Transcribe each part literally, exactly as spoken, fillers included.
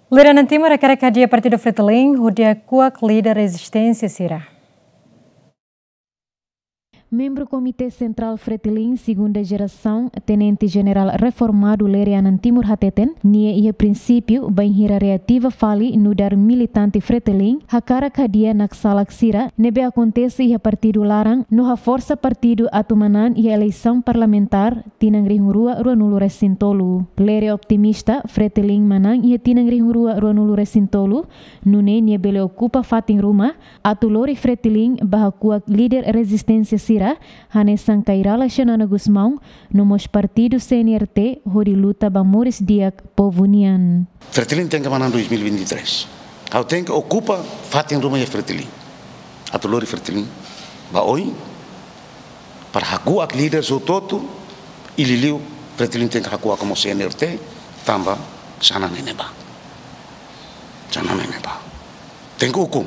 Lere Anan Timur hakarak hadi'a Partidu Fretilin hodi hakuak líder rezisténsia sira. Membru Komité Sentrál Fretilin segunda jerasaun, Tenente Jenerál reformadu Lere Anan Timur hateten, nia iha prinsípiu bainhira reativa fali nu'udar militante Fretilin hakarak hadi'a naksalak sira ne'ebé akontese iha partidu laran no haforsa partidu atu manán iha eleisaun parlamentár tinan rihun rua ruanulu resin tolu. Lere optimista Fretilin manán iha tinan rihun rua ruanulu resin tolu, nune'e nia bele okupa fatin ruma atu lori Fretilin ba hakuak líder rezisténsia sira, hanesan Kay Rala Xanana Gusmão, no mós partidu C N R T hodi luta ba moris di'ak povu nian. Fretilin tenke manán dois mil e vinte e três. Ha'u tenke okupa fatin ruma iha Fretilin. Atu lori Fretilin ba oin, para hakuak líder hotu-hotu, i liuliu Fretilin tenke hakuak mós C N R T, tanba Xanana ne'e bá. Xanana ne'e bá. Tenke ukun.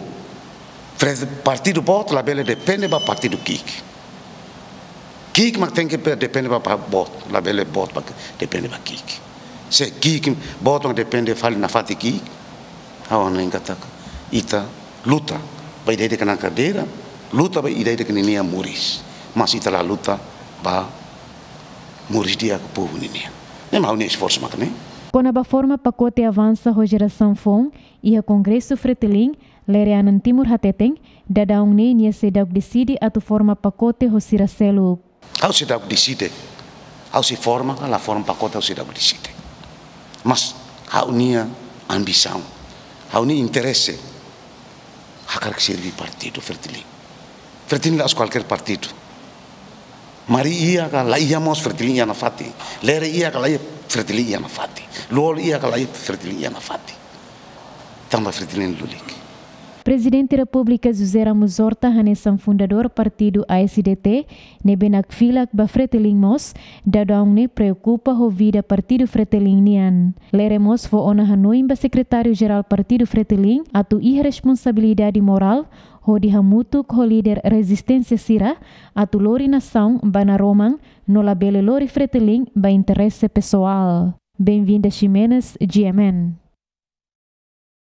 Fre-, partidu boot labele depende ba partidu ki'ik. Ki'ik mak tenke pe-, depende ba, ba boot, labele boot mak depende ba ki'ik. Se ki'ik, boot mak depende fali nafatin ki'ik, ha'u hanoin katak ita luta ba ida-idak nia kadeira, luta ba ida-idak ninia moris. Mas ita la luta ba moris di'ak povu ninian. Ne'e mak ha'u-nia esforsu maka ne'e. Kona-ba forma pakote avansa ho jerasaun foun iha Kongresu Fretilin, Lere Anan Timur hateten, daudaun ne'e nia seidauk deside atu forma pakote ho sira seluk. Ha'u seidauk deside. Ha'u sei forma ka la forma pakote, ha'u seidauk deside. Mas ha'u-nia ambisaun, ha'u-nia interese, hakarak serví partidu Fretilin. Fretilin la'ós kualkér partidu. Mari iha ka la iha mós Fretilin iha nafatin. Lere iha ka la iha Fretilin iha nafatin. Lú-Olo iha ka la iha Fretilin iha nafatin. Tanba Fretilin lulik. Prezidente Repúblika José Ramos Horta hanesan fundadór partidu A S D T, ne'ebé nakfilak ba Fretilin mós, daudaun ne'e preokupa ho vida partidu Fretilin nian. Lere mós fó ona hanoin ba Sekretáriu Jerál Partidu Fretilin atu iha responsabilidade morál hodi hamutuk ho líder rezisténsia sira atu lori nasaun ba naroman no labele lori Fretilin ba interese pesoál. Benvinda Ximenes, G M N.